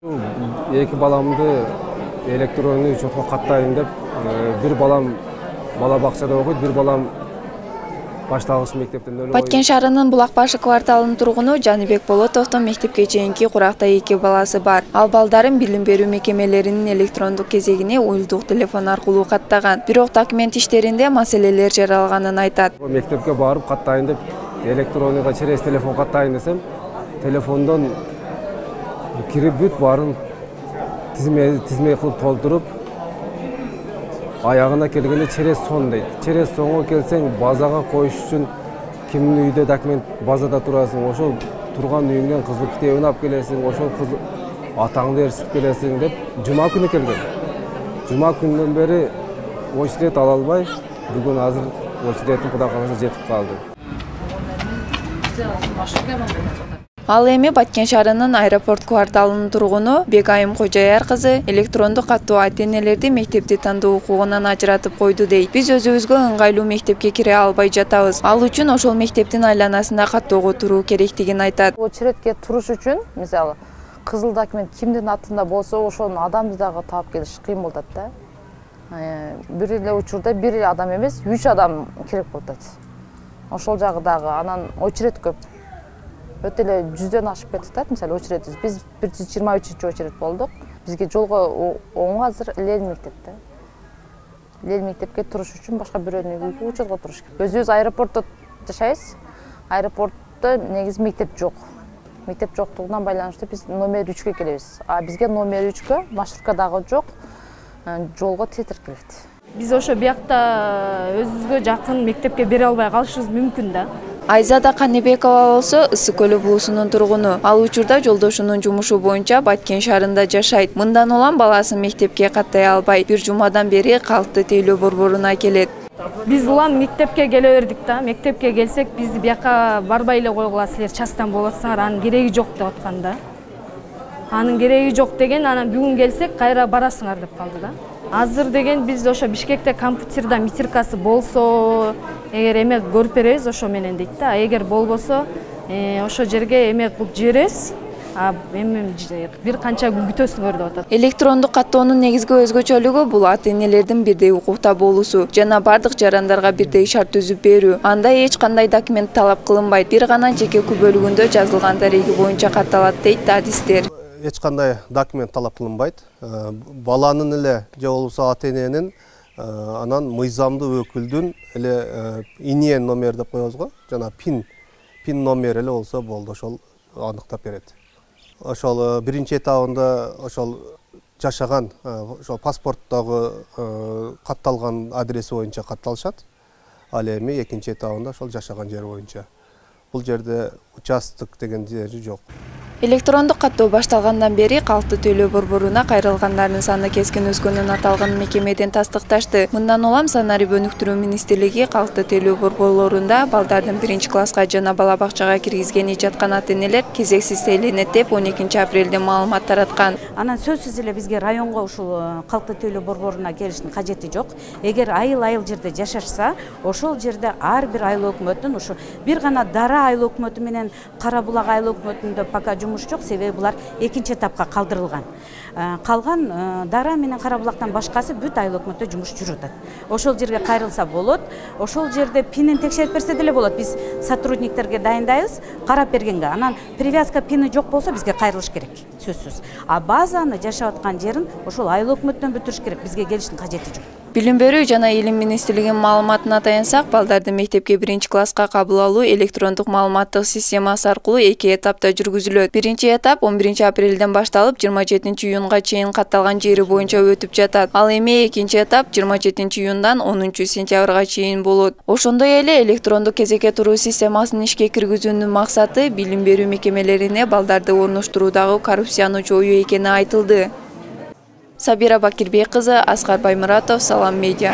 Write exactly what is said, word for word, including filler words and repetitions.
Эки баламды электронный учетко каттайын деп, бир балам бала бакчада окуйт, бир балам башталгыч мектептен. Баткен шаарынын Булакбашы кварталынын тургуну Жаныбек Болотовдун мектепке чейинки куракта эки баласы бар. Ал балдарын билим берүү мекемелеринин электрондук кезегине уюлдук телефон аркылуу каттаган. Бирок документ иштеринде маселелер жаралганын айтат. Мектепке барып каттайын деп, электронныйга через телефон каттайын десем, телефондон кирип бүт барын тизме тизме кылып толтуруп, аягына келгенде через сон дейт. Через сонго келсең, базага коюш үчүн кимдин үйдө документ базада турасың, ошол турган үйүңдөн кызыл китебин алып келесиң, ошол кыз атаңды ээрчитип келесиң деп жума күнү келген. Жума күнүнөн бери очеред ала албай, бүгүн азыр очередин Кудай кааласа жетип калды. Ал эми Баткен шаарынын аэропорт кварталынын тургуну Бегайым Кожояр кызы электрондук каттоо ата-энелерди мектепти тандоо укугунан ажыратып койду дейт. Биз өзүбүзгө ыңгайлуу мектепке кире албай жатабыз. Ал үчүн ошол мектептин айланасында каттоого туруу керектигин айтат. Очередке туруш үчүн, мисалы, кызыл документ кимдин атында болсо, ошонун адамды дагы таап келиш кыйын болот да. Бир эле учурда бир эле адам эмес, үч адам керек болот. Ошол жагы дагы анан очеред көп. Өтө эле жүздөн ашып кетти, мисалы, очередибиз. Биз бир жүз жыйырма үчүнчү очеред болдук. Бизге жолго оң азыр Лел мектепте. Лел мектепке туруш үчүн башка бирөөнү учетко туруш керек. Өзүбүз аэропортто жашайбыз. Аэропортто негизи мектеп жок. Мектеп жоктугунан байланыштуу биз номер үчкө келебиз. А бизге номер үчкө маршрутка дагы жок, жолго тетир келет. Биз ошо биякта өзүбүзгө жакын мектепке бере албай калышыбыз мүмкүн да. Айзада Каныбекова болсо Ысык көлү булусунун тургуну. Ал учурда жолдошунун жумушу боюнча Баткен шаарында жашайт. Мындан улам баласын мектепке каттай албай, бир жумадан бери калкты тейлөө борборуна келет. Биз улам мектепке келе бердик да. Мектепке келсек, биз бияка барбай эле койгула, силер частан болосуңар, анын кереги жок деп аткан да. Анын кереги жок деген, анан бүгүн келсек, кайра барасыңар деп калды да. Азыр деген биз ошо Бишкекте компьютерда митиркасы болсо, эгер эме көрүп беребиз ошо менен дейт да. Эгер болбосо, ошо жерге эме кылып жиберебиз. А эми бир канча күн күтөсүңөр деп атат. Электрондук каттоонун негизги өзгөчөлүгү бул ата-энелердин бирдей укукта болуусу жана бардык жарандарга бирдей шарт түзүп берүү. Анда эч кандай документ талап кылынбайт. Бир гана жеке күбөлүгүндө жазылган дареги боюнча катталат дейт адистер. Эч кандай документ талап кылынбайт. Баланын эле же болбосо ата-эненин анан мыйзамдуу өкүлдүн эле инен номер деп коебуз го, жана пин пин номер эле болсо болду, ошол аныктап берет. Ошол биринчи этабында ошол жашаган, ошол паспорттогу катталган адреси боюнча катталышат. Ал эми экинчи этабында ошол жашаган жери боюнча. Бул жерде участок деген жери жок. Электрондук каттоо башталгандан бери калкты тейлөө борборуна кайрылгандардын саны кескин өскөнүн аталган мекемеден тастыкташты. Мындан улам санарип өнүктүрүү министрлиги калкты тейлөө борборлорунда балдардын биринчи класска жана бала бакчага киргизгени жаткан ата-энелер кезексиз тейленет деп он экинчи апрелде маалымат тараткан. Анан сөзсүз эле бизге районго ушул калкты тейлөө борборуна келиштин кажети жок. Эгер айыл-айыл жерде жашашса, ошол жерде ар бир айыл өкмөтүнүн ушу бир гана Дара айыл өкмөтү менен Кара булак айыл өкмөтүндө пока жумуш жок, себеби булар экинчи этапка калдырылган. Калган Дара менен Кара булактан башкасы бүт айыл өкмөттө жумуш жүрүп атат. Ошол жерге кайрылса болот. Ошол жерде пинин текшерип берсе деле болот. Биз сотрудниктерге дайындайбыз, карап бергенге. Анан привязка пини жок болсо бизге кайрылыш керек, сөзсүз. А базаны жашап аткан жерин ошол айыл өкмөттөн бүтүрүш керек. Бизге келиштин кажети жок. Билим берүү жана илим министрлигинин маалыматына таянсак, балдарды мектепке биринчи класска кабыл алуу электрондук маалыматтык системасы аркылуу эки этапта жүргүзүлөт. Биринчи этап он биринчи апрелден башталып жыйырма жетинчи июнга чейин катталган жери боюнча өтүп жатат. Ал эми экинчи этап жыйырма жетинчи июндан онунчу сентябрга чейин болот. Ошондой эле электрондук кезекке туруу системасын ишке киргизүүнүн максаты билим берүү мекемелерине балдарды орноштуруудагы коррупцияны жоюу экени айтылды. Сабира Бакирбек кызы, Аскар Баймуратов, Салам медиа.